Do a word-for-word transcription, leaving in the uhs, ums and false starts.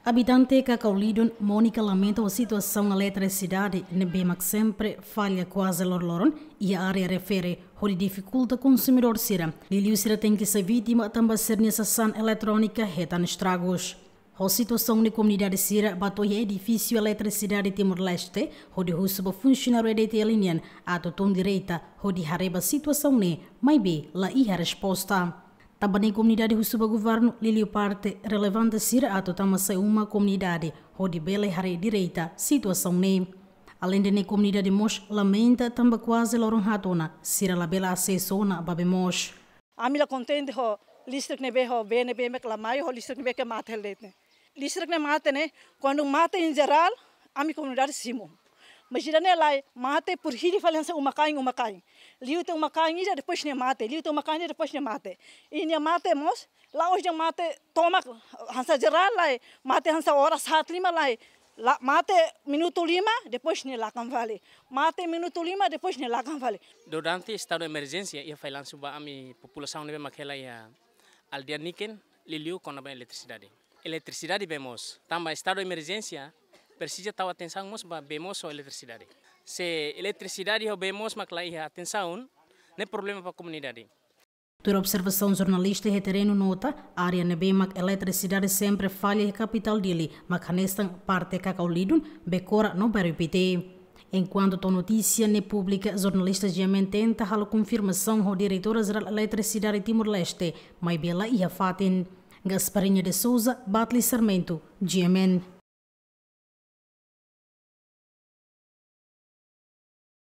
Abitante Kakaulidun, Mónica, lamenta ho situasaun eletrisidade ne'ebé mak sempre falla kuaze loroloron iha área refere, hodi difikulta konsumidór sira. Liuliu sira tenke sai vítima tanba sira-nia sasán eletrónika hetan estragus. Ho situasaun ne'e, komunidade sira bá to'o iha edifísiu Eletrisidade Timor-Leste hodi husu ba funsionáriu E D T L nian atu tun direta hodi haree ba situasaun ne'e, maibé la iha resposta. Tanba ne'e, komunidade husu ba governu liuliu parte relevante sira atu tama sai uma komunidade hodi bele haree direta situasaun ne'e. Aleinde ne'e, komunidade mós lamenta tanba kuaze loron haat ona sira labele asesu ona ba bee moos. Ami la kontente ho listrik ne'ebé, ho bee ne'ebé mak la mai, ho listrik ne'ebé ke mate hela de'it ne'e. Listrik ne'e mate ne'e, kuandu mate em geral, ami komunidade simu. Mas ida-ne'e lae, mate por hili fali hanesan uma-kain, uma-kain. Liu tiha uma-kain ida, depois nia mate. Liu tiha uma-kain ida, depois nia mate. I nia mate mós, la'ós dehan mate tomak hanesan geral lae, mate hanesan oras haat lima lae. La, mate minutu lima, depois nia lakan fali. Mate minutu lima, depois nia lakan fali. Durante estadu emerjénsia, iha fallansu ba ami populasaun ne'ebé mak hela iha aldeia niken, liuliu kona-ba eletrisidade. Eletrisidade, bee moos. Tanba estadu emerjénsia, presiza tau atensaun mós ba bee moos ho eletrisidade. Se eletrisidade ho bee moos mak la iha atensaun, ne'e problema ba komunidade. Tuir observasaun jornalista iha terrenu, nota área ne'ebé mak eletrisidade sempre falla iha kapitál Dili, mak hanesan parte Kakaulidun, Bekora no Bairru Pité. Enkuantu to'o notísia ne'e públika, jornalista G M N tenta halo konfirmasaun ho Diretora Jerál Eletrisidade Timor-Leste, maibé la iha fatin. Gasparinha de Souza, Batli Sarmento, G M N.